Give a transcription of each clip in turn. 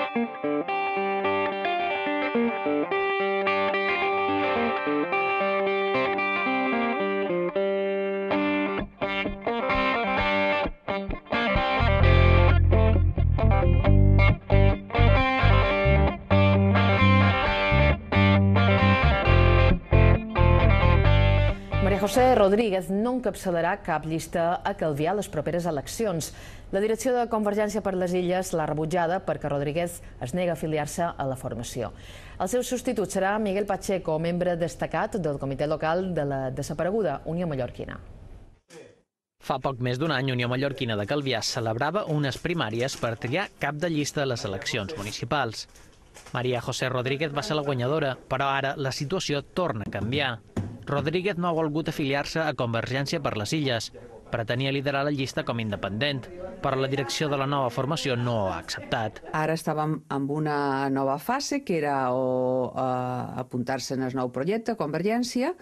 María José Rodríguez no encapçalarà cap llista a Calvià a les properes eleccions. La direcció de Convergència per les Illes l'ha rebutjada perquè Rodríguez es nega a afiliar-se a la formació. El seu substitut serà Miguel Pacheco, membre destacat del comitè local de la desapareguda Unió Mallorquina. Fa poc més d'un any, Unió Mallorquina de Calvià celebrava unes primàries per triar cap de llista a les eleccions municipals. María José Rodríguez va ser la guanyadora, però ara la situació torna a canviar. Rodríguez no ha volgut afiliar-se a Convergència per les Illes. Pretenia liderar la llista com independent, però la direcció de la nova formació no ho ha acceptat. Ara estàvem en una nova fase, que era apuntar-se en el nou projecte, Convergència,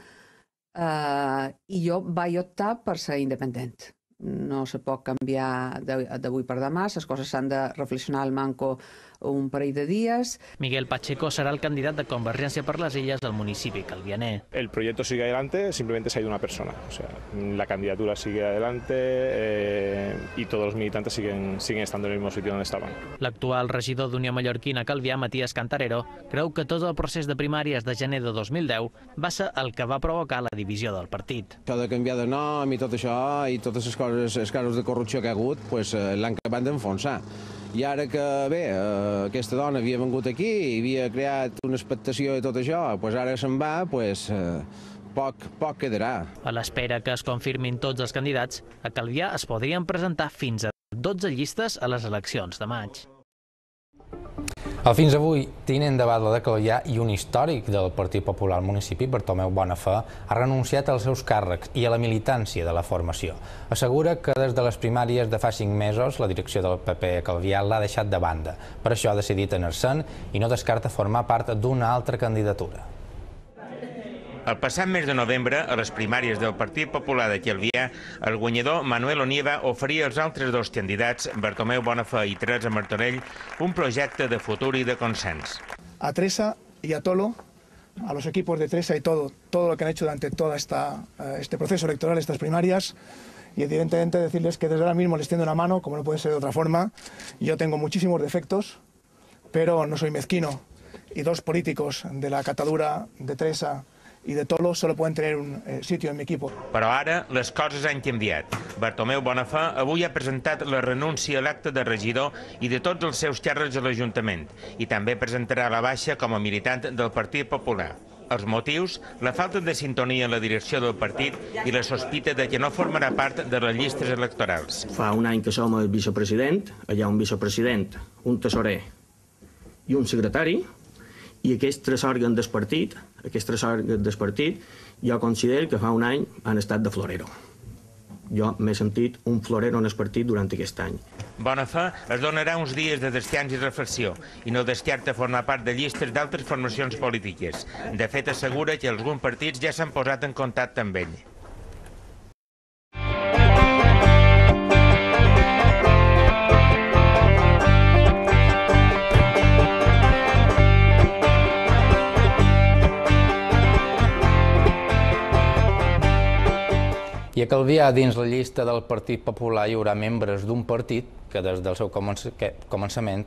i jo vaig optar per ser independent. No se pot canviar d'avui per demà, les coses s'han de reflexionar al manco un parell de dies. Miguel Pacheco serà el candidat de Convergència per les Illes del municipi calvianer. El proyecto sigue adelante, simplemente se ha ido una persona. O sea, la candidatura sigue adelante y todos los militantes siguen estando en el mismo sitio donde estaban. L'actual regidor d'Unió Mallorquina a Calvià, Matías Cantarero, creu que tot el procés de primàries de gener de 2010 va ser el que va provocar la divisió del partit. Això de canviar de nom i tot això i totes les coses, els casos de corrupció que ha hagut, l'han acabat d'enfonsar. I ara que, bé, aquesta dona havia vengut aquí i havia creat una expectació i tot això, ara se'n va, poc quedarà. A l'espera que es confirmin tots els candidats, a Calvià es podrien presentar fins a 12 llistes a les eleccions de maig. El fins avui tinent de batlle de Calvià i un històric del Partit Popular al municipi, Bartomeu Bonafé, ha renunciat als seus càrrecs i a la militància de la formació. Assegura que des de les primàries de fa 5 mesos la direcció del PP a Calvià l'ha deixat de banda. Per això ha decidit anar-se'n i no descarta formar part d'una altra candidatura. El passat mes de novembre, a les primàries del Partit Popular de Calvià, el guanyador Manuel Onieva oferia als altres dos candidats, Bartomeu Bonafé i Teresa Martorell, un projecte de futur i de consens. A Teresa y a Tolo, a los equipos de Teresa y todo lo que han hecho durante todo este proceso electoral, estas primarias, y evidentemente decirles que desde ahora mismo les tiendo una mano, como no puede ser de otra forma. Yo tengo muchísimos defectos, pero no soy mezquino, y dos políticos de la catadura de Teresa i de Tolo solo pueden tener un sitio en mi equipo. Però ara les coses han canviat. Bartomeu Bonafé avui ha presentat la renúncia a l'acte de regidor i de tots els seus càrrecs a l'Ajuntament i també presentarà la baixa com a militant del Partit Popular. Els motius, la falta de sintonia en la direcció del partit i la sospita de que no formarà part de les llistes electorals. Fa un any que som el vicepresident, hi ha un vicepresident, un tesorer i un secretari, i aquests tres òrgans del partit, jo considero que fa un any han estat de florero. Jo m'he sentit un florero en el partit durant aquest any. Bonafé es donarà uns dies de descans i reflexió i no descarta formar part de llistes d'altres formacions polítiques. De fet, assegura que alguns partits ja s'han posat en contacte amb ell. I a Calvià, dins la llista del Partit Popular, hi haurà membres d'un partit que des del seu començament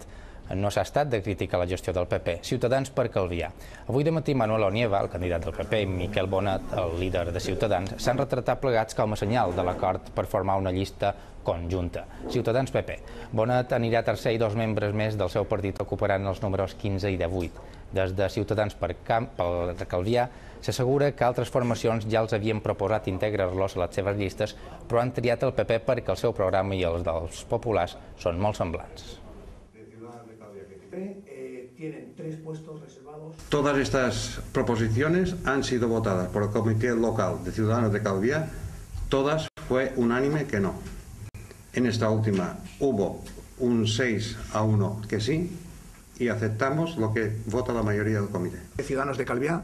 no s'ha estat de criticar la gestió del PP, Ciutadans per Calvià. Avui de matí Manuel Onieva, el candidat del PP, i Miquel Bonet, el líder de Ciutadans, s'han retratat plegats com a senyal de l'acord per formar una llista conjunta. Ciutadans-PP. Bonet anirà tercer i dos membres més del seu partit ocuparan els números 15 i 18. Des de Ciutadans per Calvià s'assegura que altres formacions ja els havien proposat integrar-los a les seves llistes, però han triat el PP perquè el seu programa i els dels populars són molt semblants. Todas estas proposiciones han sido votadas por el Comité Local de Ciudadanos de Calvià, todas fue unánime que no. En esta última hubo un 6-1 que sí, y aceptamos lo que vota la mayoría del comité. Ciudadanos de Calvià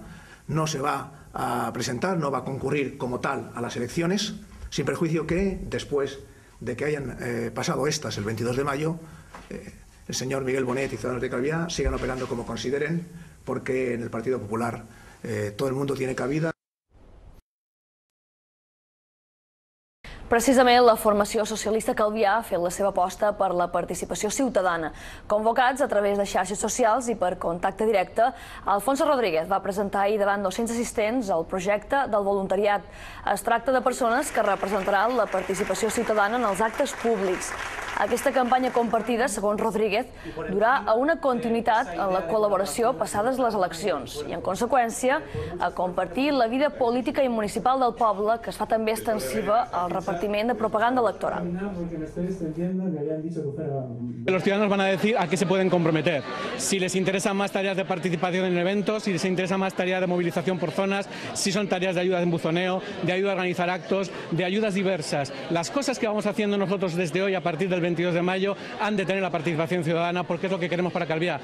no se va a presentar, no va a concurrir como tal a las elecciones, sin perjuicio que después de que hayan pasado estas el 22 de mayo, el señor Miguel Bonet y Ciudadanos de Calviá sigan operando como consideren, porque en el Partido Popular todo el mundo tiene cabida. Precisament la formació socialista Calvià ha fet la seva aposta per la participació ciutadana. Convocats a través de xarxes socials i per contacte directe, Alfonso Rodríguez va presentar ahir davant 200 assistents el projecte del voluntariat. Es tracta de persones que representaran la participació ciutadana en els actes públics. Aquesta campanya compartida, segons Rodríguez, durà a una continuïtat en la col·laboració passades les eleccions i, en conseqüència, a compartir la vida política i municipal del poble, que es fa també extensiva al repartiment de propaganda electoral. Los ciudadanos van a decir a qué se pueden comprometer. Si les interesan más tareas de participación en eventos, si les interesa más tareas de movilización por zonas, si son tareas de ayuda en buzoneo, de ayuda a organizar actos, de ayudas diversas. Las cosas que vamos haciendo nosotros desde hoy a partir del 22 de mayo han de tener la participación ciudadana porque es lo que queremos para Calvià.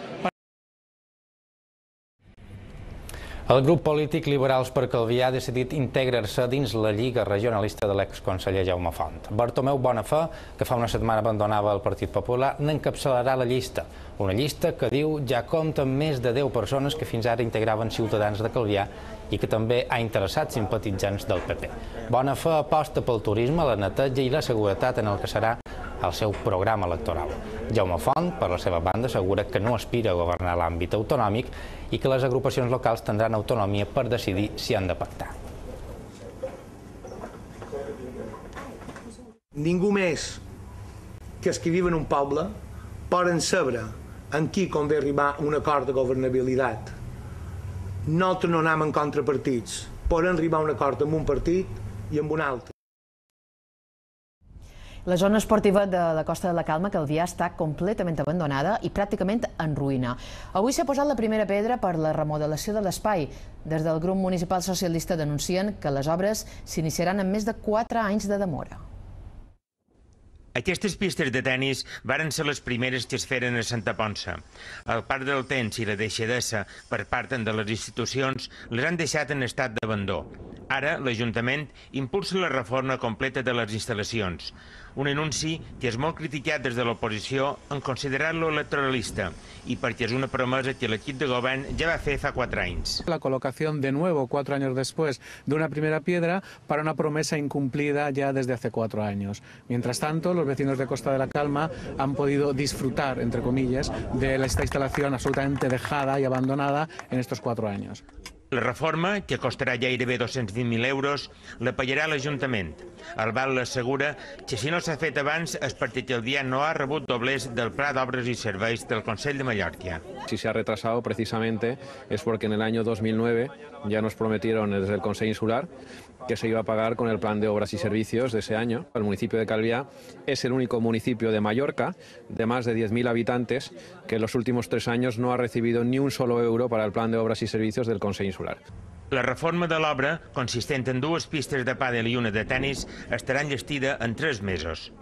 El grup polític Liberals per Calvià ha decidit integrar-se dins la Lliga Regionalista de l'exconseller Jaume Font. Bartomeu Bonafè, que fa una setmana abandonava el Partit Popular, n'encapçalarà la llista. Una llista que diu ja compta amb més de 10 persones que fins ara integraven Ciutadans de Calvià i que també ha interessat simpatitzants del PP. Bonafè aposta pel turisme, la neteja i la seguretat en el que serà el seu programa electoral. Jaume Font, per la seva banda, assegura que no aspira a governar l'àmbit autonòmic i que les agrupacions locals tindran autonomia per decidir si han de pactar. Ningú més que els que viuen en un poble poden saber en qui convé arribar a un acord de governabilitat. Nosaltres no anem en contrapartits. Poden arribar a un acord amb un partit i amb un altre. La zona esportiva de la Costa de la Calma, Calvià, està completament abandonada i pràcticament en ruïna. Avui s'ha posat la primera pedra per la remodelació de l'espai. Des del grup municipal socialista denuncien que les obres s'iniciaran amb més de 4 anys de demora. Aquestes pistes de tennis varen ser les primeres que es feren a Santa Ponça. El parc del temps i la deixadesa per part de les institucions les han deixat en estat d'abandó. Ara, l'Ajuntament impulsa la reforma completa de les instal·lacions. Un anunci que és molt criticat des de l'oposició en considerar-lo electoralista i perquè és una promesa que l'equip de govern ja va fer fa 4 anys. La colocación de nuevo, 4 años después, de una primera piedra para una promesa incumplida ya desde hace 4 años. Mientras tanto, los vecinos de Costa de la Calma han podido disfrutar, entre comillas, de esta instalación absolutamente dejada y abandonada en estos 4 años. La reforma, que costarà gairebé 220.000 euros, la pagarà l'Ajuntament. El BAL l'assegura que si no s'ha fet abans és perquè Calvià no ha rebut doblers del Pla d'Obres i Serveis del Consell de Mallorca. Si se ha retrasado precisamente es porque en el año 2009 ya nos prometieron desde el Consejo Insular que se iba a pagar con el plan de obras y servicios de ese año. El municipio de Calvià es el único municipio de Mallorca de más de 10.000 habitantes que en los últimos 3 años no ha recibido ni un solo euro para el plan de obras y servicios del Consejo Insular. La reforma de l'obra, consistent en 2 pistes de pàdel i una de tennis, estarà enllestida en 3 mesos.